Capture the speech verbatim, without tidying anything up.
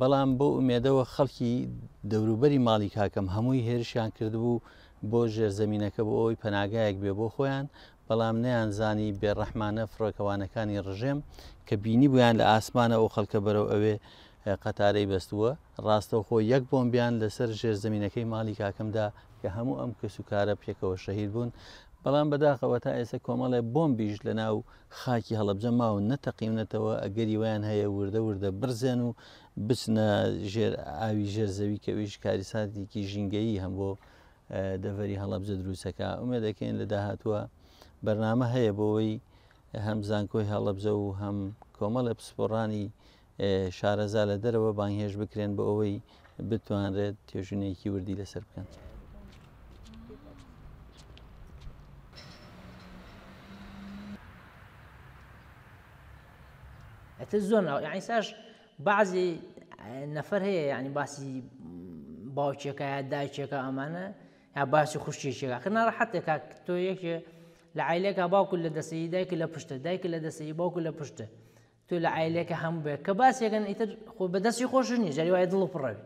بەڵام بۆ ئومێدەوە خەڵکی دەوروبەری ماڵی کاکەم هەمووی هێرشیان کردبوو بۆ ژێرزەمینەکە بۆ ئەوەی پەناگایەک بێ بۆ خۆیان، بەڵام نەیانزانی بێڕەحمانە فڕۆکەوانەکانی ڕژێم کە بینی بوویان لە ئاسمانە ئەو خەڵکە بەرەو ئەوێ قەتارەی بەستووە، ڕاستەوخۆ یەک بۆمبیان لەسەر ژێرزەمینەکەی ماڵی کاکەمدا کە هەموو ئەم کەس و کارە پێکەوە شەهید بوون. بەڵام بەداخەوە تا ئێستا کۆمەڵێ بۆمبیش لە ناو خاکی هەڵەبجە ماون نەتەقیونەتەوە، ئەگەری ویان هەیە وردە وردە برزێن و بچنە ژێر ئاوی ژێر زەوی کە ئەویش کاریساتێکی ژینگەیی هەم بۆ دەڤەری هەڵەبجە دروستەکە. ئومێد دەکەین لە داهاتووە بەرنامە هەیە بۆەوەی هەم زانکۆی هەڵەبجە و هەم کۆمەڵێ پسپۆڕانی شارەزا لە دەرەوە بانگهێشت بکرێن بۆ ئەوەی بتوانرێت توێژینەیەکی وردی لەسەر بکەن. ئەتە زۆر یعنی ساش بعضی نەفەر هەیە یعنی باسی باوکێکە یا دایکێکە ئەمانە یا باسی خوشکێکێکە خ ناڕەحەتێ کاک تۆ یەکێ لە عایلێکە باوکو لە دەسەی دایک لە پشتە، دایک لە دەسەی باوکو لە پشتە، تۆ لە عایلێکە هەموو بێ کە باسێکن ئیتر خۆ بەدەستی خۆش نییە، جاری وایە دڵ و پڕەوی.